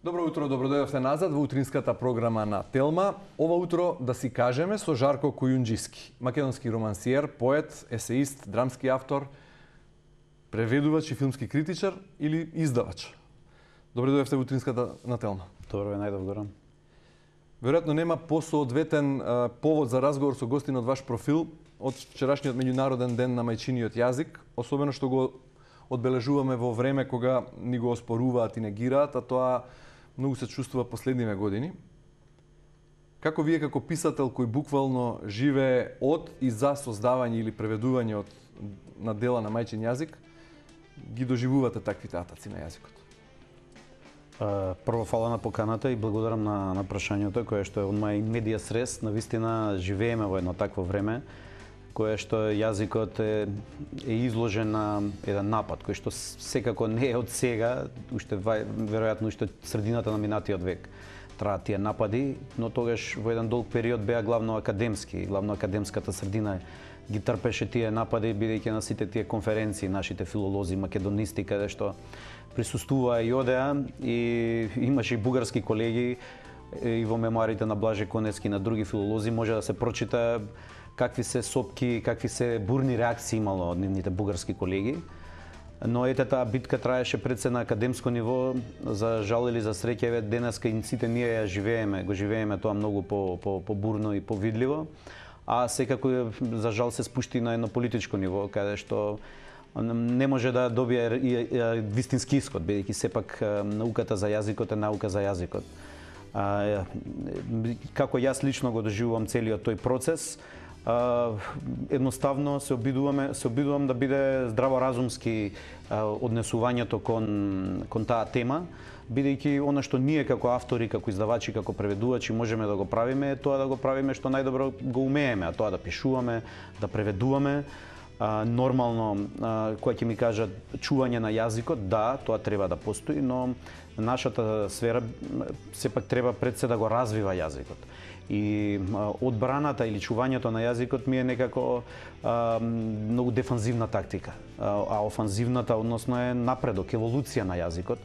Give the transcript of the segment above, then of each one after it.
Добро утро, добродојавте назад во утринската програма на Телма. Ова утро да си кажеме со Жарко Којунџиски, македонски романсиер, поет, есеист, драмски автор, преведувач и филмски критичар или издавач. Добродојавте во утринската на Телма. Добро ве најдов горам. Веројатно нема посоодветен повод за разговор со гостин од ваш профил од вчерашниот меѓународен ден на мајчиниот јазик, особено што го одбележуваме во време кога ни го оспоруваат и негираат, а тоа многу се чувствува последниве години. Како вие како писател кој буквално живее од и за создавање или преведување на дела на мајчин јазик, ги доживувате таквите атаци на јазикот? Прво фала на поканата и благодарам на прашањето кое што е од моја медија срез. Навистина живееме во едно такво време кое што јазикот е изложен на еден напад кој што секако не е од сега, уште веројатно уште средината на минатиот век траат тие напади, но тогаш во еден долг период беа главно академски, главно академската средина ги трпеше тие напади бидејќи на сите тие конференции нашите филолози, македонисти каде што присуствуваа и одеа и имаше и бугарски колеги и во мемоарите на Блаже Коневски и на други филолози може да се прочита какви се сопки, какви се бурни реакции имало од нивните бугарски колеги. Но ете таа битка траеше пред се на академско ниво, за жал или за среќа, денеска и сите ние ја живееме, го живееме тоа многу по-бурно и повидливо, а секако за жал се спушти на едно политичко ниво, каде што не може да добие вистински исход, бидејќи сепак науката за јазикот е наука за јазикот. Како јас лично го доживувам целиот тој процес, едноставно се обидувам да биде здраворазумски однесувањето кон таа тема, бидејќи она што ние како автори, како издавачи, како преведувачи можеме да го правиме е тоа да го правиме што најдобро го умееме, а тоа да пишуваме, да преведуваме. Нормално, која ќе ми кажат чување на јазикот, да, тоа треба да постои, но нашата сфера сепак треба пред се да го развива јазикот. И одбраната или чувањето на јазикот ми е некако многу дефанзивна тактика, а офанзивната односно е напредок, еволуција на јазикот,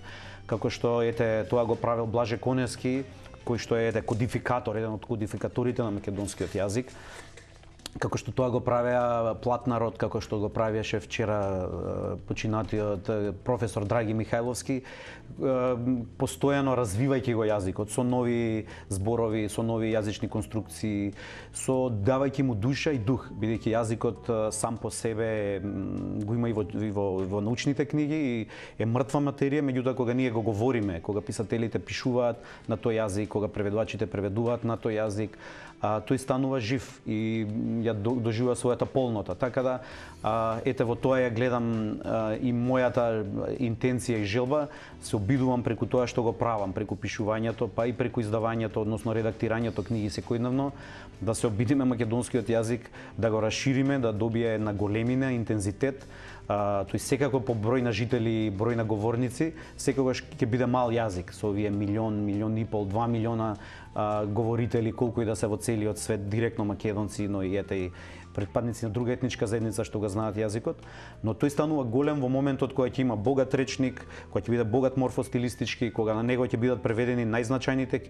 како што ете тоа го правил Блаже Коневски, кој што е кодификатор, еден од кодификаторите на македонскиот јазик, како што тоа го правеа Платнарот, како што го правеше вчера починатиот професор Драги Михајловски, постојано развивајќи го јазикот со нови зборови, со нови јазични конструкции, со давајќи му душа и дух, бидејќи јазикот сам по себе го има и во научните книги и е мртва материја, меѓутоа кога ние го говориме, кога писателите пишуваат на тој јазик, кога преведувачите преведуваат на тој јазик, тој станува жив и ја доживува својата полнота. Така да, ете во тоа ја гледам и мојата интенција и желба, се обидувам преку тоа што го правам, преку пишувањето, па и преку издавањето, односно редактирањето книги секојдневно, да се обидиме македонскиот јазик, да го расшириме, да добие на големина, интензитет, тој секако по број на жители, број на говорници, секогаш ќе биде мал јазик со овие милион и пол, 2 милиона говорители, колку и да се во целиот свет, директно македонци, но и ете и предпадници на друга етничка заедница што го знаат јазикот, но тој станува голем во моментот кога ќе има богат речник, кога ќе биде богат морфостилистички, кога на него ќе бидат преведени најзначајните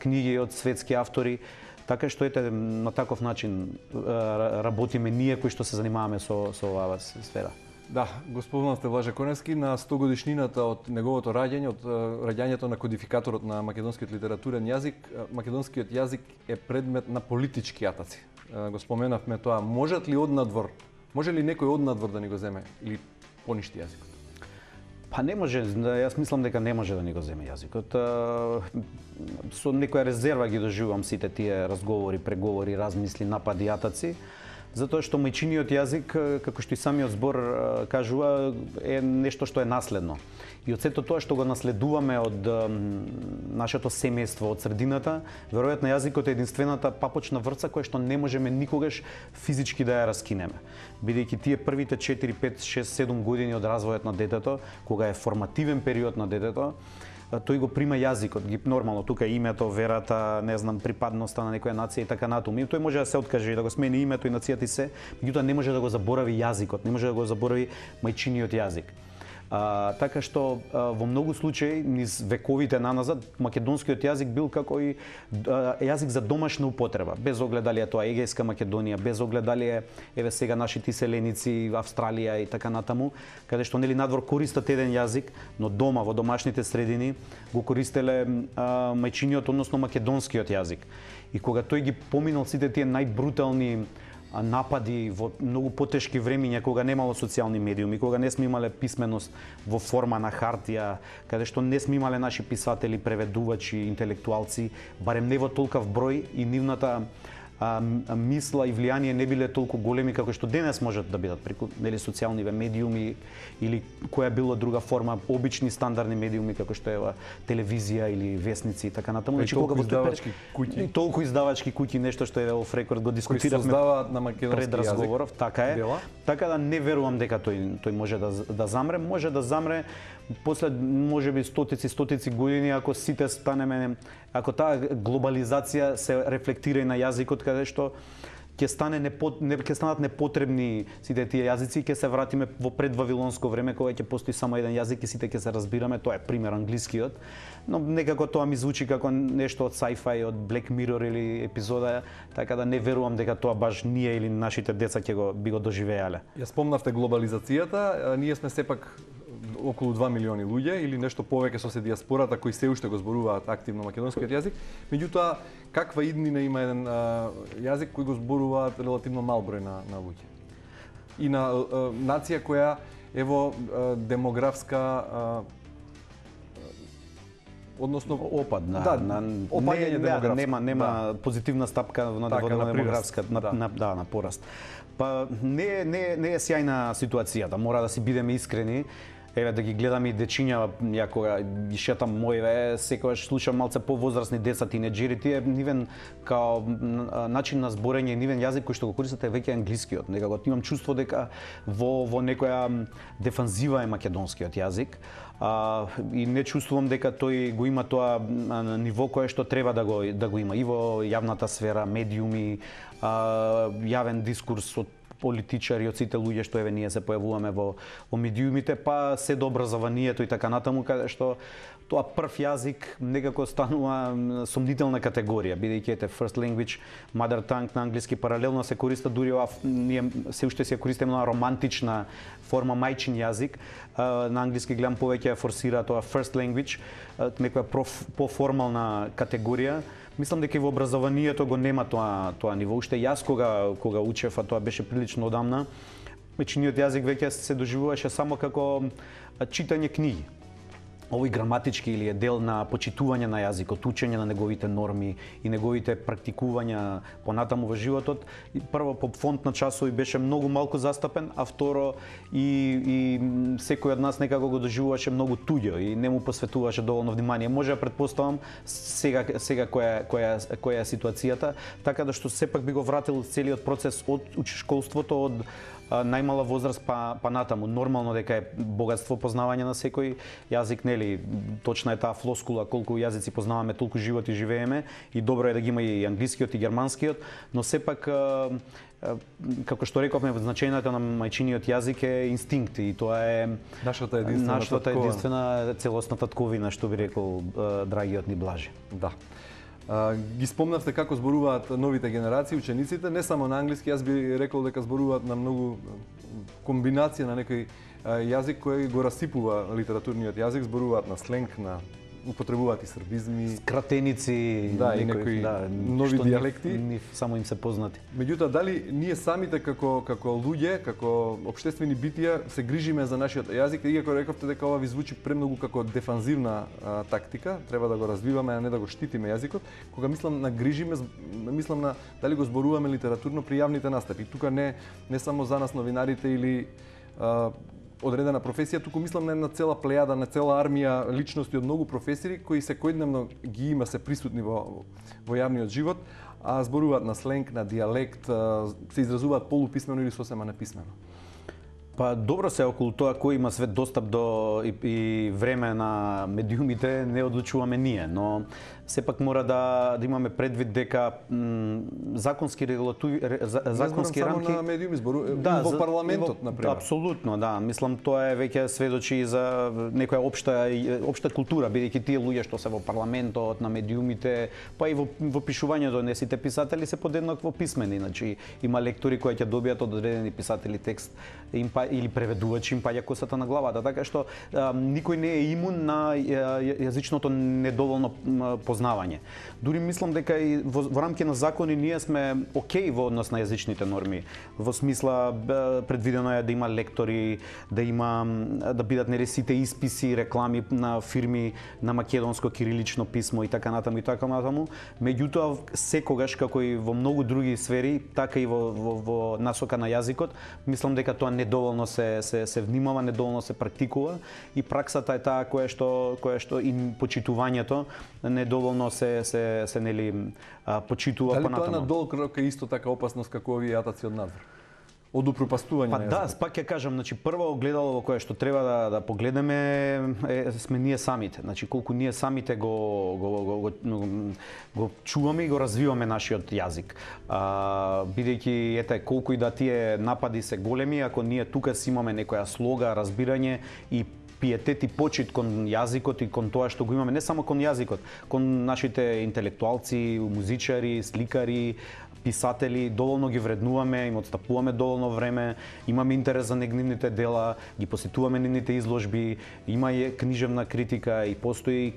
книги од светски автори. Така што ете на таков начин работиме ние кои што се занимаваме со оваа сфера. Да, го спомнавте Блаже Коневски на 100 годишнината од неговото раѓање, од раѓањето на кодификаторот на македонскиот литературен јазик. Македонскиот јазик е предмет на политички атаци. Го споменавме тоа. Може ли некој однадвор да ни го земе или поништи јазикот? Па не може, јас мислам дека не може да ни го земе јазикот. Со некоја резерва ги доживувам сите тие разговори, преговори, размисли, напади, атаци, затоа што мајчиниот јазик, како што и самиот збор кажува, е нешто што е наследно. И од сето тоа што го наследуваме од нашето семејство, од средината, веројатно јазикот е единствената папочна врца која што не можеме никогаш физички да ја раскинеме. Бидејќи тие првите 4, 5, 6, 7 години од развојот на детето, кога е формативен период на детето, тој го прима јазикот, ги нормално тука името, верата, не знам, припадноста на некоја нација и така натаму. Тој може да се откаже и да го смени името и нацијата и се, меѓутоа не може да го заборави јазикот, не може да го заборави мајчиниот јазик. Така што во многу случаи низ вековите наназад македонскиот јазик бил како и јазик за домашна употреба, без оглед дали е тоа Егејска Македонија, без оглед дали е еве сега нашите иселеници Австралија и така натаму, каде што нели надвор користат еден јазик, но дома во домашните средини го користеле мајчиниот, односно македонскиот јазик. И кога тој ги поминал сите тие најбрутални напади во многу потешки времиња, кога немало социјални медиуми, кога не сме имале писменост во форма на хартија, каде што не сме имале наши писатели, преведувачи, интелектуалци, барем не во толкав број и нивната мисла и влијание не биле толку големи како што денес можат да бидат преку нели социјални медиуми или која било друга форма, обични стандардни медиуми како што е телевизија или весници и така натаму. Значи кога во издавачки куќи, толку издавачки куќи, нешто што е оф рекорд го дискутиравме на македонски пред разговоров, така е. Дела? Така да не верувам дека тој може да замре, може да замре после можеби стотици години ако сите станеме, ако таа глобализација се рефлектира и на јазикот, каде што ќе станат непотребни сите тие јазици, ќе се вратиме во предвавилонско време кога ќе постои само еден јазик и сите ќе се разбираме, тоа е пример англискиот, но некако тоа ми звучи како нешто од sci-fi, од Black Mirror или епизода, така да не верувам дека тоа баш ние или нашите деца ќе би го доживеале. Ја спомнавте глобализацијата, ние сме сепак околу 2 милиони луѓе или нешто повеќе со се диаспората кои се уште го зборуваат активно македонскиот јазик. Меѓутоа, каква иднина има еден јазик кој го зборуваат релативно мал број на луѓе? И на нација која е во демографска односно опад на опаѓање демографско. Нема позитивна стапка во демографска на пораст. Па не е сјајна ситуацијата, мора да си бидеме искрени. Еве да ги гледам и дечиња, ја кога ги шетам моје, секогаш слушам малце повозрасни деца, тинеџери, тие нивен као начин на зборење, нивен јазик кој што го користат е веќе англискиот. Некако имам чувство дека во некоја дефанзива е македонскиот јазик. И не чувствувам дека тој го има тоа ниво кое што треба да го има и во јавната сфера, медиуми, јавен дискурс од политичари, од сите луѓе што еве ние се појавуваме во медиумите, па се до образованието и така натаму, каде што тоа прв јазик некако станува сомнителна категорија, бидејќи ете first language, mother tongue на англиски паралелно се користа дури ние се уште се користиме на романтична форма мајчин јазик. На англиски гледам повеќе форсира тоа first language, некоја поформална категорија. Мислам дека и во образованието го нема тоа ниво. Уште јас кога учев, а тоа беше прилично одамна, мајчиниот јазик веќе се доживуваше само како читање книги. Овој граматички или е дел на почитување на јазикот, учење на неговите норми и неговите практикувања понатаму во животот. Прво по фонд на часови беше многу малку застапен, а второ и секој од нас некако го доживуваше многу туѓо и не му посветуваше доволно внимание. Може да претпоставам сега која е ситуацијата, така да што сепак би го вратил целиот процес од школството, од најмала возраст па натаму. Нормално дека е богатство познавање на секој јазик, нели? Точна е таа флоскула, колку јазици познаваме, толку животи живееме и добро е да ги има и англискиот и германскиот, но сепак како што рековме, значењето на мајчиниот јазик е инстинкт и тоа е нашата единствена целосна татковина, што би рекол драгиот ни Блажи. Да. Ги спомнавте како зборуваат новите генерации, учениците, не само на англиски, јас би рекол дека зборуваат на многу комбинација на некој јазик кој го расипува литературниот јазик, зборуваат на сленг, употребуваат и србизми, скратеници, и некои нови дијалекти, само им се познати. Меѓутоа, дали ние самите како луѓе, како општествени битија се грижиме за нашиот јазик, иако рековте дека ова ви звучи премногу како дефанзивна тактика, треба да го развиваме, а не да го штитиме јазикот. Кога мислам на грижиме, мислам на дали го зборуваме литературно при јавните настапи. Тука не само за нас новинарите или одредена професија, туку мислам на една цела плејада, на цела армија личности од многу професори кои секојдневно ги има, се присутни во јавниот живот, а зборуваат на сленг, на дијалект, се изразуваат полуписмено или сосема неписмено. Па добро се околу тоа кој има свет достап до и време на медиумите не одлучуваме ние, но сепак мора да имаме предвид дека законски законски рамки само на медиуми во парламентот на пример. Апсолутно, да. Мислам тоа е веќе сведочи и за некоја општа култура, бидејќи тие луѓе што се во парламентот, на медиумите, па и во пишувањето, не сите писатели се подеднакво писмени, значи има лектори кои ќе добијат од одредени писатели текст или преведувачи им паѓа косата на главата, така што никој не е имун на јазичното недоволно познавање. Дури мислам дека и во рамки на закони ние сме окей во однос на јазичните норми. Во смисла предвидено е да има лектори, да бидат нели сите исписи, реклами на фирми на македонско кирилично писмо и така натаму и така натаму. Меѓутоа секогаш како и во многу други сфери, така и во насока на јазикот, мислам дека тоа недоволно се внимава, недоволно се практикува и праксата е таа која што и почитувањето недоволно се нели почитува понатаму. понатаму. Дали тоа на долг рок е исто така опасност како овие јатаци од надвор? Од упропастување на јазикот? Да, пак ќе кажам, значи прво огледало во кое што треба да погледнеме сме ние самите. Значи колку ние самите го чуваме и го развиваме нашиот јазик. Бидејќи ете колку и да тие напади се големи, ако ние тука си имаме некоја слога, разбирање и пиетет и почит кон јазикот и кон тоа што го имаме, не само кон јазикот, кон нашите интелектуалци, музичари, сликари, писатели, доволно ги вреднуваме, им отстапуваме доволно време, имаме интерес за нивните дела, ги посетуваме нивните изложби, има и книжевна критика и постои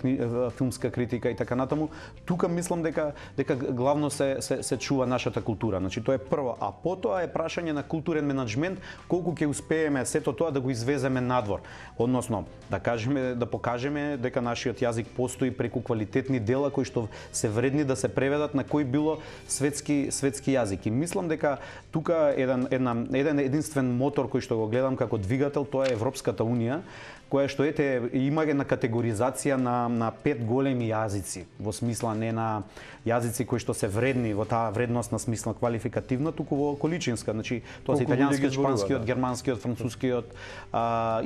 филмска критика и така натаму. Тука мислам дека главно се чува нашата култура. Значи тоа е прво, а потоа е прашање на културен менаџмент колку ќе успееме сето тоа да го извеземе надвор. Односно, да покажеме дека нашиот јазик постои преку квалитетни дела кои што се вредни да се преведат на кој било светски јазик. И мислам дека тука еден единствен мотор кој што го гледам како двигател, тоа е Европската унија, која што има една категоризација на 5 големи јазици, во смисла не на јазици кои што се вредни во таа вредностна смисла квалификативна, туку во количинска, значи тоа се италијанскиот, шпанскиот, германскиот, францускиот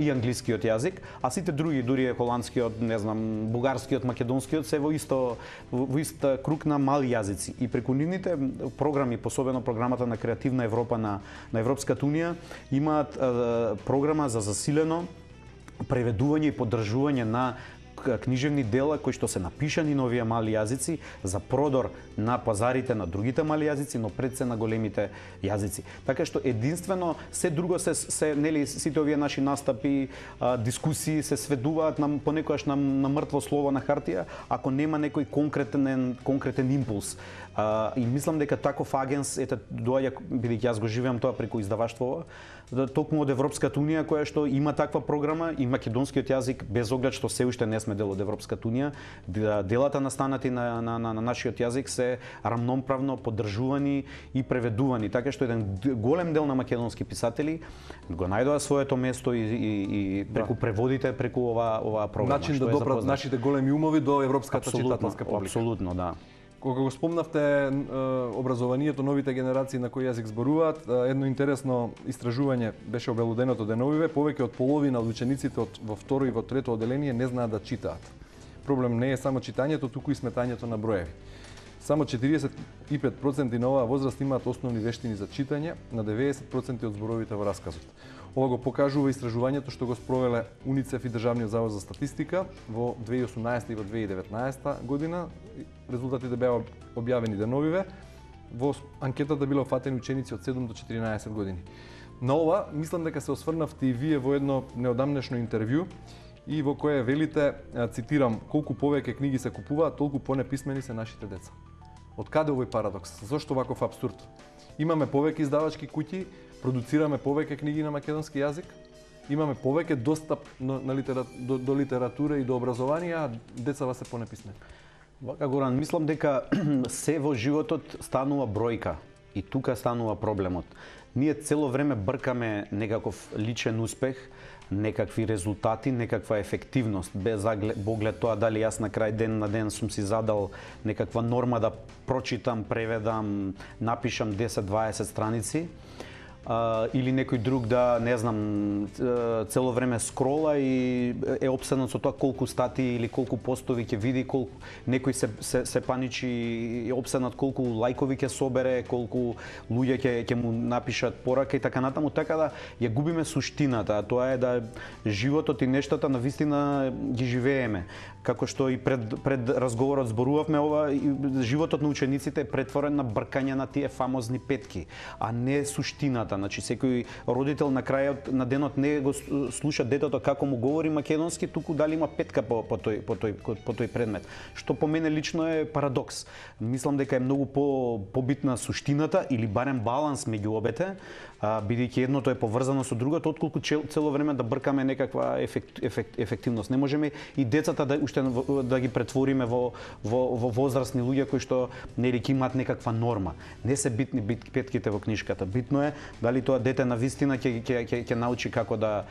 и англискиот јазик, а сите други, дури холандскиот, не знам, бугарскиот, македонскиот се во ист круг на мали јазици. И преку нивните програми, посебено програмата на Креативна Европа на Европската унија, имаат програма за засилено преведување и поддржување на книжевни дела кои што се напишани на овие мали јазици за продор на пазарите на другите мали јазици, но пред се на големите јазици. Така што единствено се друго се нели сите овие наши настапи, дискусии се сведуваат понекогаш на мртво слово на хартија, ако нема некој конкретен импулс. И мислам дека таков агенс доаѓа, бидејќи јас го живеам тоа преку издаваштво, токму од Европската унија која што има таква програма и македонскиот јазик, без оглед што се уште не сме дел од Европската унија, делата настанати на нашиот јазик се рамноправно поддржувани и преведувани, така што еден голем дел на македонски писатели го најдоа своето место и преку преводите, преку оваа програма. Начин да допрат нашите големи умови до европската читателска публика. Апсолутно, да. Кога го спомнавте образованието, новите генерации на кој јазик зборуваат, едно интересно истражување беше обелуденото деновиве, повеќе од половина од учениците во второ и во трето оделение не знаат да читаат. Проблем не е само читањето, туку и сметањето на броеви. Само 45% на оваа возраст имаат основни вештини за читање, на 90% од зборовите во расказот. Ова го покажува истражувањето што го спровеле УНИЦЕФ и Државниот завод за статистика во 2018 и во 2019 година. Резултатите беа објавени деновиве. Во анкетата биле офатени ученици од 7 до 14 години. На ова, мислам дека се осврнавте и вие во едно неодамнешно интервју и во кое велите, цитирам, колку повеќе книги се купуваат, толку понеписмени се нашите деца. Од каде овој парадокс? Зошто ваков апсурд? Имаме повеќе издавачки куќи, продуцираме повеќе книги на македонски јазик, имаме повеќе достап до литература и до образование, а децава се понеписмени. Вака, Горан, мислам дека се во животот станува бројка и тука станува проблемот. Ние цело време бркаме некаков личен успех, некакви резултати, некаква ефективност, без оглед тоа дали јас на крај ден на ден сум си задал некаква норма да прочитам, преведам, напишам 10-20 страници. или некој друг да, не знам, цело време скрола и е опседнат со тоа колку статии или колку постови ќе види, колку некој се паничи и е опседнат колку лајкови ќе собере, колку луѓе ќе му напишат порака и така натаму, така да ја губиме суштината, а тоа е да животот и нештата навистина ги живееме. Како што и пред разговорот зборувавме, ова животот на учениците е претворен на бркање на тие фамозни петки, а не суштината. Значи секој родител на крајот на денот не го слуша детето како му говори македонски, туку дали има петка по тој предмет. Што по мене лично е парадокс. Мислам дека е многу побитна суштината или барем баланс меѓу обете, бидејќи едното е поврзано со другото, отколку цело време да бркаме некаква ефективност. Не можеме и децата да ги претвориме во возрастни луѓе кои што нели ќе имаат некаква норма. Не се битни петките во книжката. Битно е дали тоа дете навистина ќе научи како да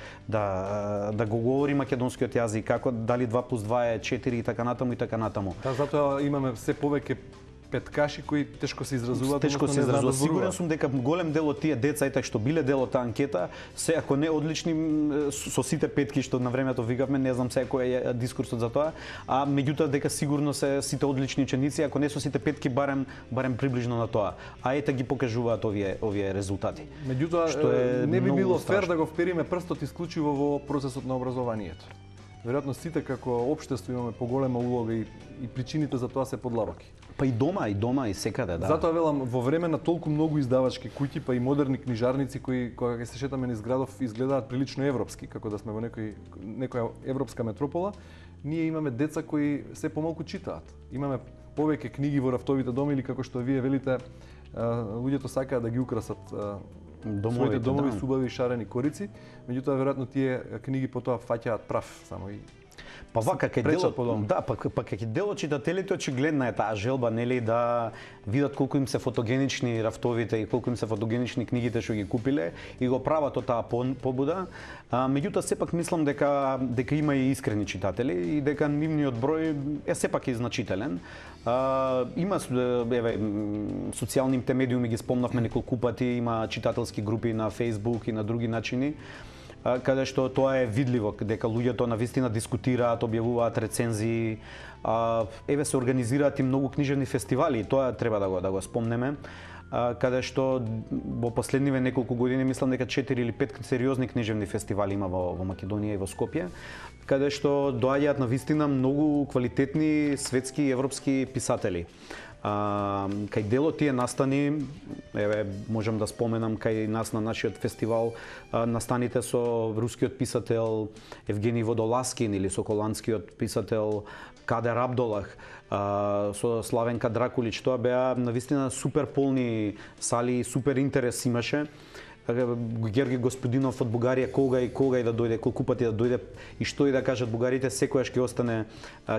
го говори македонскиот јазик, како дали 2 + 2 е 4 и така натаму и така натаму. Да, затоа имаме се повеќе петкаши кои тешко се изразуваат. Тешко се изразуваат. Сигурен сум дека голем дел од тие деца и така што биле дел од таа анкета, се ако не одлични со сите петки што на времето викавме, не знам сега кој е дискурсот за тоа, а меѓутоа дека сигурно се сите одлични ученици, ако не со сите петки барем приближно на тоа. А ете ги покажуваат овие резултати. Меѓутоа не би било фер да го впериме прстот исклучиво во процесот на образованието. Веројатно сите како општество имаме поголема улога и причините за тоа се подлабоки. Па и дома и секаде, да. Затоа велам, во време на толку многу издавачки куќи, па и модерни книжарници кои кога се шетаме низ градов изгледаат прилично европски, како да сме во некоја европска метропола, ние имаме деца кои се помалку читаат. Имаме повеќе книги во рафтовите дома или како што вие велите, луѓето сакаат да ги украсат своите домови со убави шарени корици, меѓутоа веројатно тие книги потоа фаќаат прав само и па вака кај делот читателите очигледна е таа желба, нели, да видат колку им се фотогенични рафтовите и колку им се фотогенични книгите што ги купиле и го прават од таа побуда. Меѓутоа сепак мислам дека има и искрени читатели и дека нивниот број е сепак и значителен. Има социјалните медиуми ги спомнавме неколку пати, има читателски групи на Facebook и на други начини, каде што тоа е видливо, дека луѓето навистина дискутираат, објавуваат рецензии, се организираат и многу книжевни фестивали, тоа треба да го спомнеме, каде што во последниве неколку години мислам дека 4 или 5 сериозни книжевни фестивали има во Македонија и во Скопје, каде што доаѓаат навистина многу квалитетни светски и европски писатели. Кај делот тие настани, можам да споменам кај нас на нашиот фестивал, настаните со рускиот писател Евгений Водолазкин или со холандскиот писател Кадер Абдолах, со Славенка Дракулич, тоа беа навистина супер полни сали, супер интерес имаше. Георги Господинов од Бугарија кога и да дојде, колку пати да дојде и што и да кажат бугарите, секојаш ќе остане,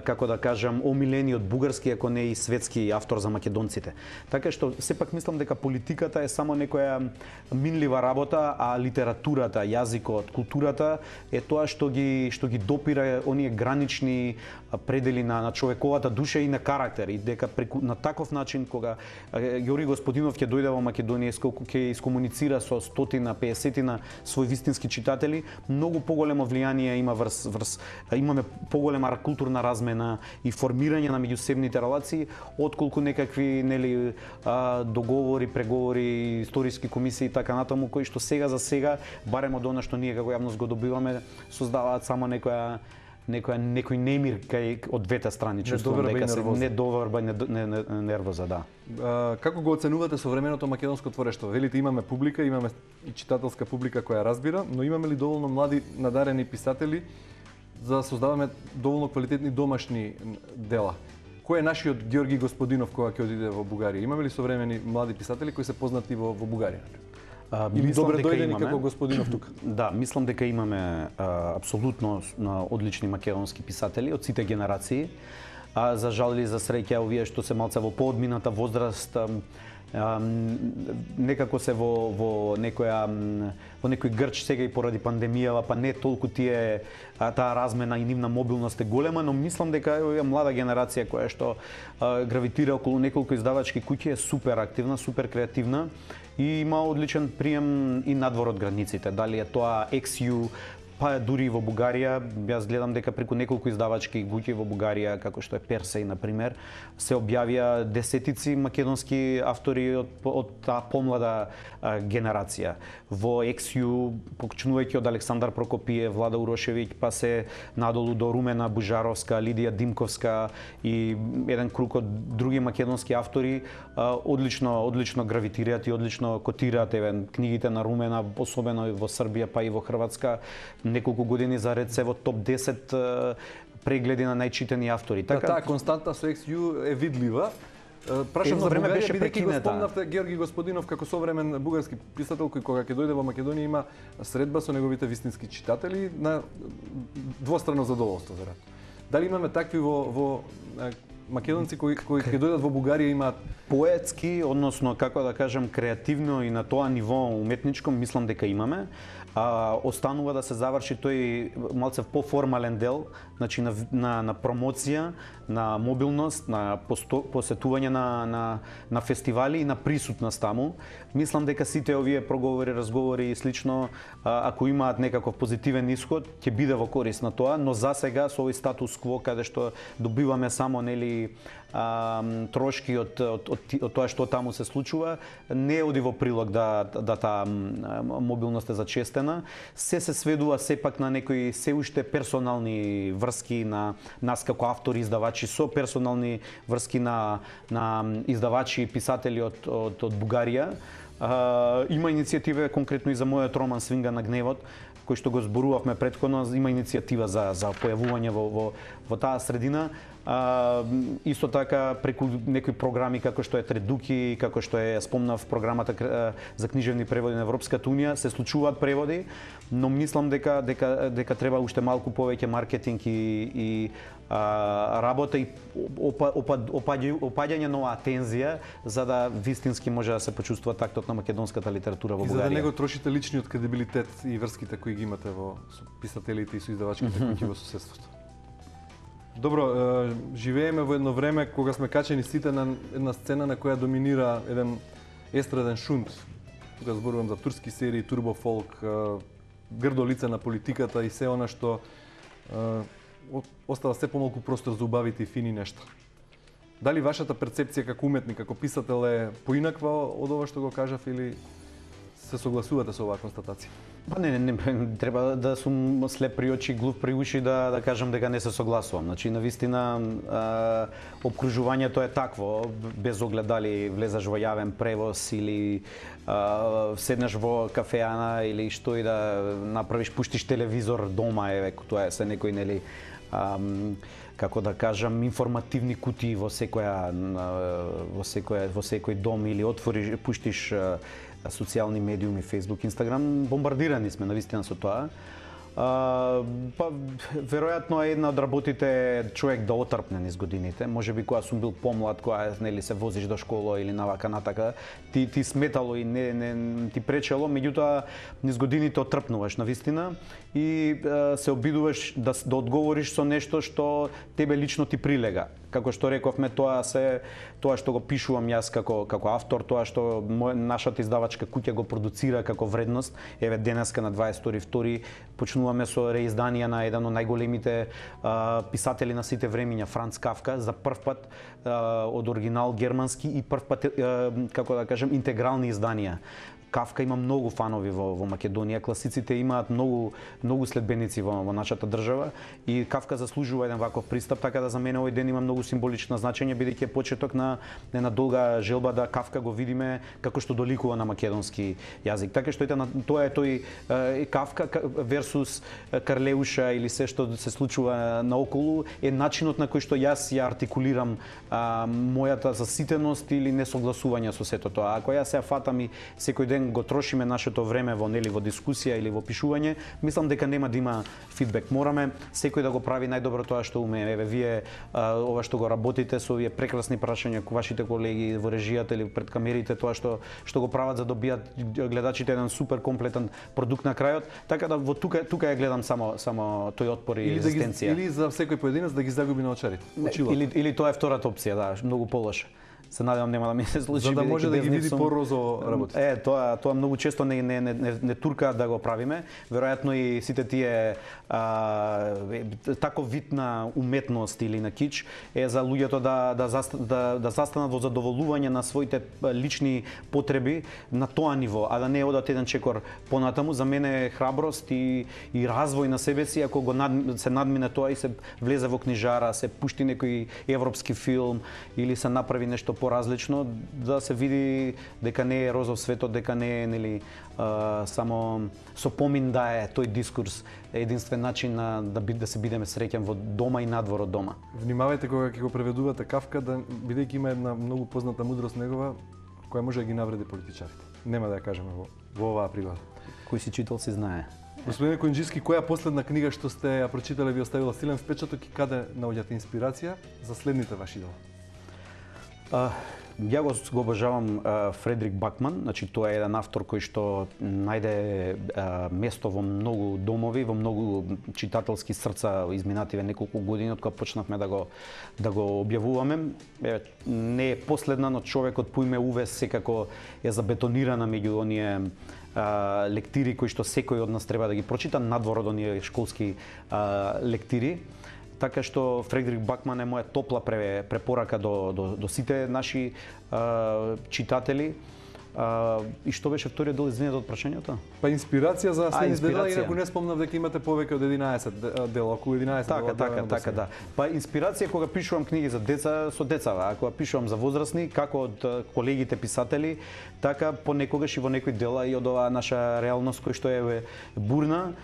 како да кажам, омилениот бугарски, ако не и светски автор за македонците. Така што сепак мислам дека политиката е само некоја минлива работа, а литературата, јазикот, културата е тоа што ги допира оние гранични предели на човековата душа и на карактер, и дека на таков начин кога Георги Господинов ќе дојде во Македонија, ќе искомуницира со 150 своји вистински читатели, многу поголемо влијание има имаме поголема културна размена и формирање на меѓусебните релации, отколку некакви договори, преговори, историски комисии и така натаму, кои што сега за сега, барем од она што ние како јавност го добиваме, создаваат само некој немир кај од двете страни, чувствувам дека се недоверба и нервоза, да. Како го оценувате современото македонско творештво? Велите имаме публика, имаме и читателска публика која разбира, но имаме ли доволно млади надарени писатели за да создаваме доволно квалитетни домашни дела? Кој е нашиот Георги Господинов кога ќе одиде во Бугарија? Имаме ли современи млади писатели кои се познати во Бугарија? Или добре дојдени како Господинов тука? Да, мислам дека имаме апсолутно одлични македонски писатели од сите генерации. за жал или за среќа овие што се малце во поодмината возраст некако се во некој грч сега и поради пандемијава, па не толку таа размена и нивна мобилност е голема, но мислам дека оваа млада генерација која што гравитира околу неколку издавачки куќи е супер активна, супер креативна и има одличен прием и надвор од границите. Дали е тоа XU, па дури и во Бугарија, јас гледам дека преку неколку издавачки куќи во Бугарија, како што е Персеј, например, се објавија десетици македонски автори од таа помлада генерација. Во XU, почнувајќи од Александар Прокопиев, Влада Урошевиќ, па се надолу до Румена Бужаровска, Лидија Димковска и еден круг од други македонски автори, одлично гравитираат и одлично котираат книгите на Румена, особено во Србија, па и во Хрватска. Неколку години заред се во топ 10 прегледи на најчитани автори. Така таа константа со XU е видлива. Прашам за Бугарија, бидејќи го спомнавте Георги Господинов како современ бугарски писател кој кога ќе дојде во Македонија има средба со неговите вистински читатели на двострано задоволство веројатно. Дали имаме такви во македонци кои ќе дојдат во Бугарија имаат поетски, односно како да кажам креативно и на тоа ниво уметничко, мислам дека имаме. Останува да се заврши тој малце поформален дел, значи на промоција, на мобилност, на посетување на фестивали и на присутност таму. Мислам дека сите овие проговори, разговори и слично, ако имаат некаков позитивен исход, ќе биде во корист на тоа, но за сега со овој статус кво каде што добиваме само трошки од тоа што таму се случува, не оди во прилог да таа мобилност е зачестена. Се сведува сепак на некои се уште персонални врски на нас како автори, издавачи, со персонални врски на издавачи и писатели од Бугарија. Има иницијатива конкретно и за мојот роман Свинга на гневот, кој што го зборувавме претходно, има иницијатива за појавување во таа средина. Исто така преку некои програми како што е Тредуки, како што е спомнав програмата за книжевни преводи на Европската унија, се случуваат преводи, но мислам дека треба уште малку повеќе маркетинг и работа и опаѓање нова атензија за да вистински може да се почувствува тактот на македонската литература во Бугарија. И за да не го трошите личниот кредибилитет и врските кои ги имате со писателите и со издавачките куќи во соседството. Добро, живееме во едно време кога сме качени сите на една сцена на која доминира еден естраден шунт. Тука зборувам за турски серии, турбофолк, грдо лице на политиката и се она што остава се помалку простор за убавите и фини нешта. Дали вашата перцепција како уметник, како писател е поинаква од ова што го кажав или се согласувате со оваа констатација? Па не, треба да сум слеп при очи, глув при уши да кажам дека не се согласувам. Значи, навистина, обкружувањето е такво, без оглед дали влезаш во јавен превоз или седнеш во кафеана или што и да направиш, пуштиш телевизор дома, тоа е се некој, нели, како да кажам, информативни кутии во секој дом или отвориш, пуштиш социјални медиуми, Facebook, Instagram, бомбардирани сме навистина со тоа. Па веројатно е една од работите човек да отрпне низ годините. Можеби кога сум бил помлад, кога нели се возиш до школа или навака натака, ти сметало и не ти пречело, меѓутоа низ годините отрпнуваш навистина и се обидуваш да одговориш со нешто што тебе лично ти прилега. Како што рековме, тоа што го пишувам јас како автор, тоа што нашата издавачка куќа го продуцира како вредност. Еве денеска на 22 почнуваме со реизданија на еден од најголемите писатели на сите времиња, Франц Кафка, за прв пат од оригинал германски и прв пат, како да кажем, интегрални изданија. Кафка има многу фанови во Македонија, класиците имаат многу следбеници во нашата држава и Кафка заслужува еден ваков пристап, така да за мене овој ден има многу символично значење, бидејќи е почеток на една долга желба да Кафка го видиме како што доликува на македонски јазик. Така што тоа е тој Кафка версус Карлеуша или се што се случува наоколу е начинот на кој што јас ја артикулирам мојата заситеност или несогласување со сето тоа. Ако јас се фатам и секој ден ден го трошиме нашето време во во дискусија или во пишување, мислам дека нема да има фидбек. Мораме секој да го прави најдобро тоа што умее. Еве вие ова што го работите со овие прекрасни прашања вашите колеги во режијата или пред камерите, тоа што го прават за да добијат гледачите еден супер комплетен продукт на крајот. Така да во тука ја гледам само тој отпор и резистенција. Или за секој поединец да ги загуби на очарите. Или тоа е втората опција, да, многу полоша. Се надевам нема да ми се случи. За да може да ги види порозо работите. Тоа многу често не туркаат да го правиме. Веројатно и сите тие тако вид на уметност или на кич е за луѓето да застанат во задоволување на своите лични потреби на тоа ниво, а да не одат еден чекор понатаму. За мене е храброст и развој на себе си ако се надмине тоа и се влезе во книжара, се пушти некој европски филм или се направи нешто поразлично, да се види дека не е розов светот, дека не е само со помин да е тој дискурс единствен начин да се бидеме среќен во дома и надвор од дома. Внимавајте кога ќе го преведувате Кафка, бидејќи има една многу позната мудрост негова која може да ги навреди политичарите. Нема да ја кажеме во оваа пригода. Кој си читал си знае. Господине Којунџиски, која последна книга што сте ја прочитале ви оставила силен впечаток и каде наоѓате инспирација за следните ваши дела? Ја го обожавам Фредрик Бакман, значи тоа е еден автор кој што најде место во многу домови, во многу читателски срца изминативе неколку години од кога почнавме да го објавуваме. Не е последна, но човекот по име Уве секако е забетонирана меѓу оние лектири кои што секој од нас треба да ги прочита надвор од оние школски лектири. Така што Фредрик Бакман е моја топла препорака до сите наши читатели. И што беше вториот дел, извинете, од прашањето? Па инспирација за следните дела, инаку не спомнав дека имате повеќе од 11 дела, околу 11 дела. Така, да. Па инспирација кога пишувам книги за деца, со деца, а кога пишувам за возрастни, како од колегите писатели, така понекогаш и во некои дела и од оваа наша реалност која што е бурна,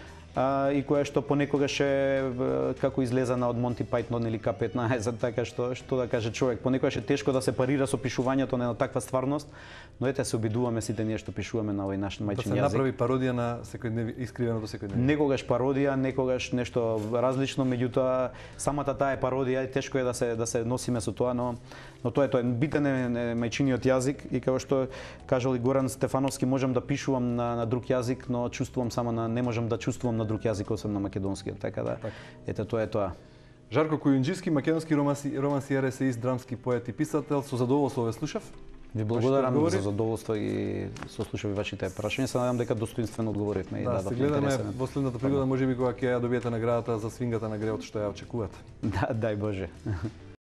и која што понекогаш е како излезана од Монти Пајтон или К-15, така што да каже човек, понекогаш е тешко да се парира со пишувањето на таква стварност, но ете се обидуваме сите ние што пишуваме на овој наш мајчин јазик. Да се направи пародија на искривеното секојдневие. Некогаш пародија, некогаш нешто различно, меѓутоа самата таа е пародија и тешко е да се носиме со тоа, но тоа е битен е мајчиниот јазик и како што кажал и Горан Стефановски, можам да пишувам на друг јазик, но чувствувам само не можам да чувствувам на друг јазик освен на македонскиот, така да. Ете тоа е тоа. Жарко Којунџиски, македонски романсиер, есеист, драмски поет и писател, со задоволство ве слушав. Ви благодарам за задоволство и сослушав и вашите прашања. Се надевам дека достоинствено одговоривме и се гледаме во следната пригода, можеби кога ќе ја добиете наградата за свингата на греот што ја очекувате. Да, дај Боже.